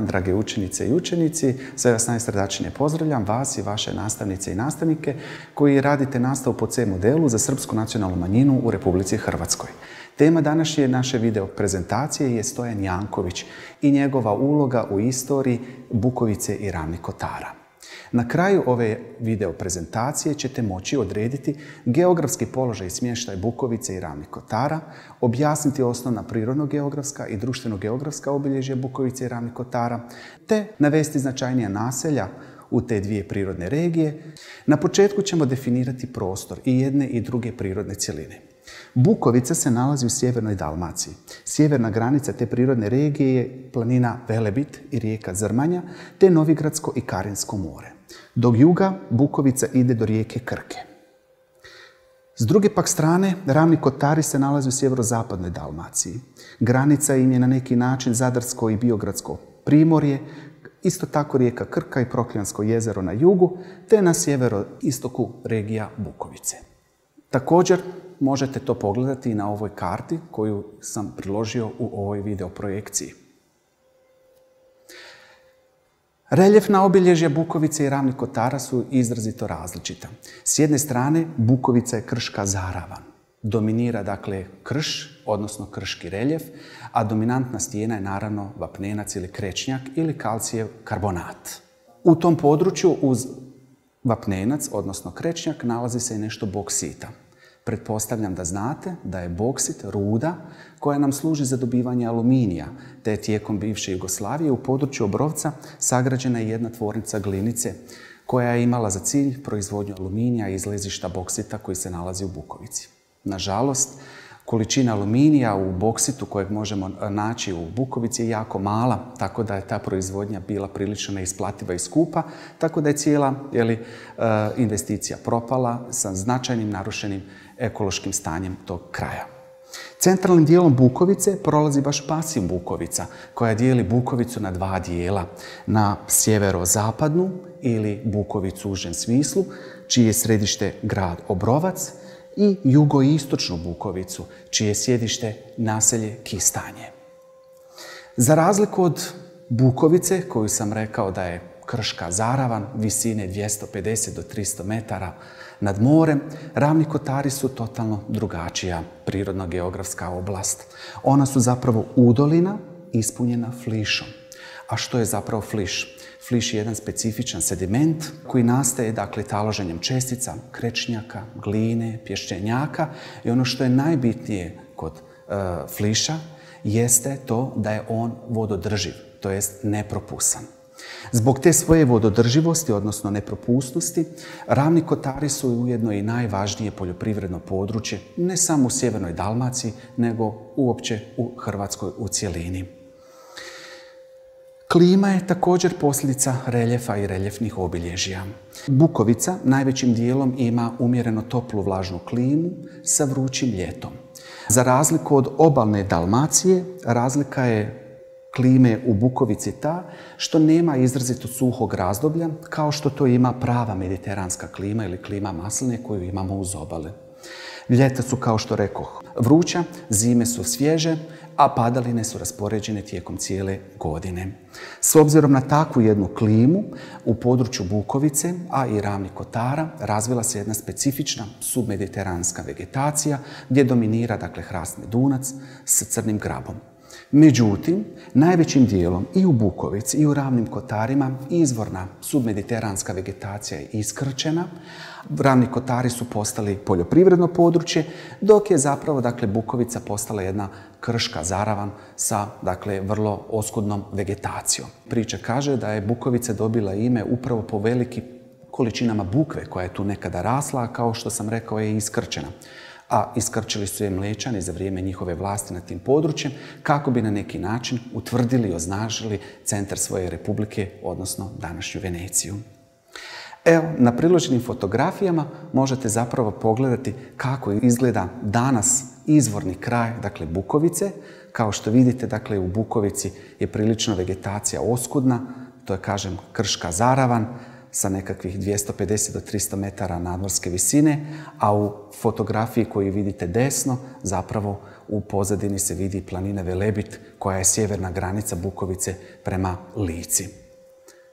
drage učenice i učenici. Sve vas najsrdačnije pozdravljam, vas i vaše nastavnice i nastavnike koji radite nastavu po C modelu za srpsku nacionalnu manjinu u Republici Hrvatskoj. Tema današnje naše video prezentacije je Stojan Janković i njegova uloga u istoriji Bukovice i Ravnih Kotara. Na kraju ove video prezentacije ćete moći odrediti geografski položaj i smještaj Bukovice i Ravnih Kotara, objasniti osnovna prirodno-geografska i društveno-geografska obilježja Bukovice i Ravnih Kotara, te navesti značajnija naselja u te dvije prirodne regije. Na početku ćemo definirati prostor i jedne i druge prirodne cjeline. Bukovica se nalazi u sjevernoj Dalmaciji. Sjeverna granica te prirodne regije je planina Velebit i rijeka Zrmanja, te Novigradsko i Karinsko more. Do juga Bukovica ide do rijeke Krke. S druge pak strane, Ravni Kotari se nalaze u sjeverozapadnoj Dalmaciji. Granica im je na neki način Zadarsko i Biogradsko primorje, isto tako rijeka Krka i Prokljansko jezero na jugu, te na sjeveroistoku regija Bukovice. Također, možete to pogledati i na ovoj karti koju sam priložio u ovoj video projekciji. Reljefna obilježja Bukovice i Ravnih Kotara su izrazito različita. S jedne strane, Bukovica je krška zaravan. Dominira dakle krš, odnosno krški reljef, a dominantna stijena je naravno vapnenac ili krečnjak ili kalcijev karbonat. U tom području uz vapnenac, odnosno krečnjak, nalazi se i nešto boksita. Pretpostavljam da znate da je boksit ruda koja nam služi za dobivanje aluminija, te je tijekom bivše Jugoslavije u području Obrovca sagrađena je jedna tvornica glinice koja je imala za cilj proizvodnju aluminija iz ležišta boksita koji se nalazi u Bukovici. Nažalost, količina aluminija u boksitu kojeg možemo naći u Bukovici je jako mala, tako da je ta proizvodnja bila prilično neisplativa i skupa, tako da je cijela investicija propala sa značajnim narušenim ekološkim stanjem tog kraja. Centralnim dijelom Bukovice prolazi baš pasiv Bukovica, koja dijeli Bukovicu na dva dijela, na sjeverozapadnu ili Bukovicu u užem smislu, čije je središte grad Obrovac, i jugoistočnu Bukovicu, čije je sjedište naselje Kistanje. Za razliku od Bukovice, koju sam rekao da je krška zaravan, visine 250 do 300 metara nad morem, Ravni Kotari su totalno drugačija prirodno-geografska oblast. Ona su zapravo udolina ispunjena flišom. A što je zapravo fliš? Fliš je jedan specifičan sediment koji nastaje taloženjem čestica, krečnjaka, gline, pješčenjaka i ono što je najbitnije kod fliša jeste to da je on vododrživ, to jest nepropusan. Zbog te svoje vododrživosti, odnosno nepropusnosti, Ravni Kotari su ujedno i najvažnije poljoprivredno područje, ne samo u sjevernoj Dalmaciji, nego uopće u Hrvatskoj u cjelini. Klima je također posljedica reljefa i reljefnih obilježja. Bukovica najvećim dijelom ima umjereno toplu vlažnu klimu sa vrućim ljetom. Za razliku od obalne Dalmacije, razlika je klime u Bukovici ta što nema izrazito suhog razdoblja kao što to ima prava mediteranska klima ili klima masline koju imamo uz obale. Ljeta su, kao što rekoh, vruća, zime su svježe, a padaline su raspoređene tijekom cijele godine. S obzirom na takvu jednu klimu, u području Bukovice, a i Ravnih Kotara, razvila se jedna specifična submediteranska vegetacija gdje dominira hrast medunac sa crnim grabom. Međutim, najvećim dijelom i u Bukovici i u Ravnim Kotarima izvorna submediteranska vegetacija je iskrčena. Ravni Kotari su postali poljoprivredno područje, dok je zapravo Bukovica postala jedna krška zaravan sa vrlo oskudnom vegetacijom. Priča kaže da je Bukovica dobila ime upravo po velikim količinama bukve koja je tu nekada rasla, a kao što sam rekao je iskrčena. A iskrčili su je Mlečani za vrijeme njihove vlasti nad tim područjem kako bi na neki način utvrdili i označili centar svoje republike, odnosno današnju Veneciju. Evo, na priloženim fotografijama možete zapravo pogledati kako izgleda danas izvorni kraj, Bukovice. Kao što vidite, u Bukovici je prilično vegetacija oskudna, to je, kažem, krška zaravan, sa nekakvih 250 do 300 metara nadmorske visine, a u fotografiji koju vidite desno, zapravo u pozadini se vidi planina Velebit, koja je sjeverna granica Bukovice prema Lici.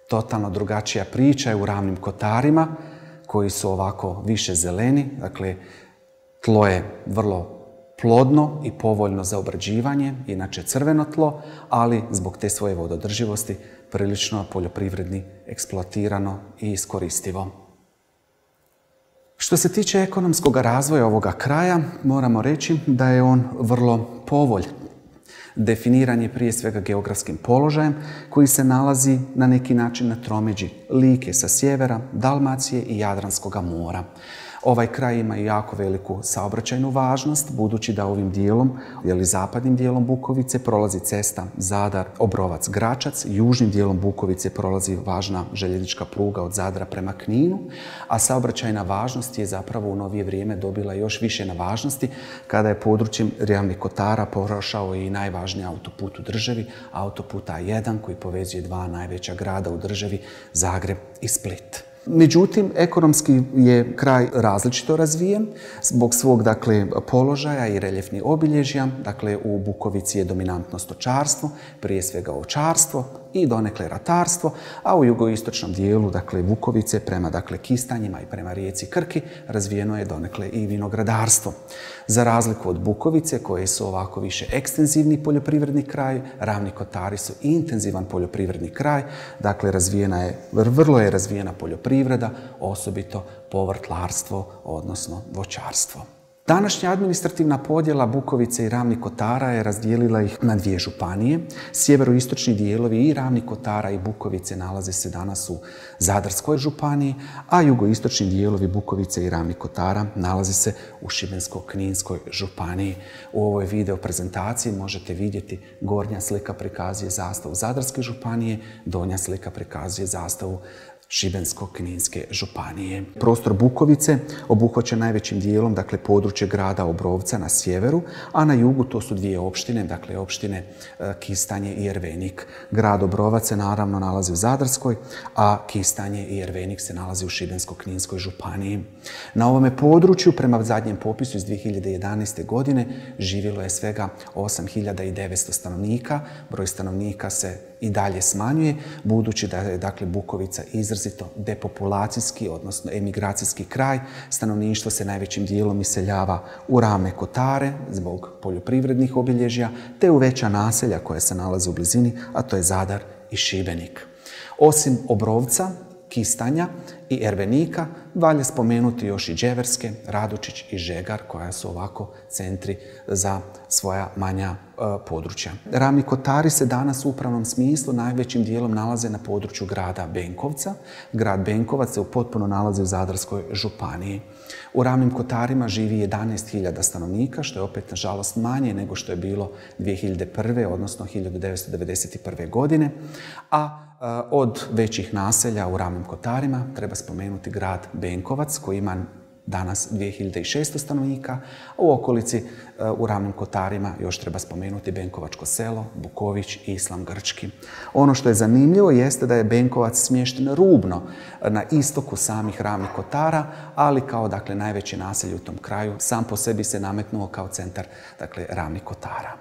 Totalno drugačija priča je u Ravnim Kotarima, koji su ovako više zeleni, dakle, tlo je vrlo plodno i povoljno za obrađivanje, inače crveno tlo, ali zbog te svoje vododrživosti prilično poljoprivredni, eksploatirano i iskoristivo. Što se tiče ekonomskog razvoja ovoga kraja, moramo reći da je on vrlo povoljan. Definiran je prije svega geografskim položajem koji se nalazi na neki način na tromeđi Like sa sjevera, Dalmacije i Jadranskog mora. Ovaj kraj ima i jako veliku saobraćajnu važnost, budući da ovim dijelom, zapadnim dijelom Bukovice, prolazi cesta Zadar, Obrovac, Gračac, južnim dijelom Bukovice prolazi važna željeznička pruga od Zadra prema Kninu, a saobraćajna važnost je zapravo u novije vrijeme dobila još više na važnosti kada je područjem Ravnih Kotara prošao i najvažniji autoput u državi, autoput A1 koji povezuje dva najveća grada u državi, Zagreb i Split. Međutim, ekonomski je kraj različito razvijen zbog svog, dakle, položaja i reljefnih obilježja. Dakle, u Bukovici je dominantno stočarstvo, prije svega ovčarstvo i donekle ratarstvo, a u jugoistočnom dijelu, dakle, Bukovice prema, dakle, Kistanjima i prema rijeci Krki razvijeno je donekle i vinogradarstvo. Za razliku od Bukovice, koje su ovako više ekstenzivni poljoprivredni kraj, Ravni Kotari su intenzivan poljoprivredni kraj, dakle, vrlo je razvijena poljoprivreda, osobito povrtlarstvo, odnosno voćarstvo. Današnja administrativna podjela Bukovice i Ravnih Kotara je razdijelila ih na dvije županije. Sjeveroistočni dijelovi i Ravnih Kotara i Bukovice nalaze se danas u Zadarskoj županiji, a jugoistočni dijelovi Bukovice i Ravnih Kotara nalaze se u Šibensko-kninskoj županiji. U ovoj video prezentaciji možete vidjeti gornja slika prikazuje zastavu Zadarske županije, donja slika prikazuje zastavu Šibensko-kninske županije. Prostor Bukovice obuhvaća najvećim dijelom, dakle, područje grada Obrovca na sjeveru, a na jugu to su dvije opštine, dakle, opštine Kistanje i Ervenik. Grad Obrovac se naravno nalazi u Zadarskoj, a Kistanje i Ervenik se nalazi u Šibensko-kninskoj županiji. Na ovome području, prema zadnjem popisu iz 2011. godine, živjelo je svega 8.900 stanovnika. Broj stanovnika se i dalje smanjuje, budući da je, dakle, Bukovica izrazito depopulacijski, odnosno emigracijski kraj. Stanovništvo se najvećim dijelom iseljava u Ravne Kotare zbog poljoprivrednih obilježja, te u veća naselja koja se nalaze u blizini, a to je Zadar i Šibenik. Osim Obrovca, Kistanja i Ervenika, valja spomenuti još i Đeverske, Radočić i Žegar, koja su ovako centri za svoja manja područja. Ravni Kotari se danas u upravnom smislu najvećim dijelom nalaze na području grada Benkovca. Grad Benkovac se potpuno nalazi u Zadarskoj županiji. U Ravnim Kotarima živi 11.000 stanovnika, što je opet, nažalost, manje nego što je bilo 2001. odnosno 1991. godine, a od većih naselja u Ravnim Kotarima treba spomenuti grad Benkovac, koji ima danas 2600 stanovnika, a u okolici u Ravnim Kotarima još treba spomenuti Benkovačko selo, Buković i Islam Grčki. Ono što je zanimljivo jeste da je Benkovac smješten rubno na istoku samih Ravnih Kotara, ali kao, dakle, najveće naselje u tom kraju sam po sebi se nametnuo kao centar, dakle, Ravnih Kotara.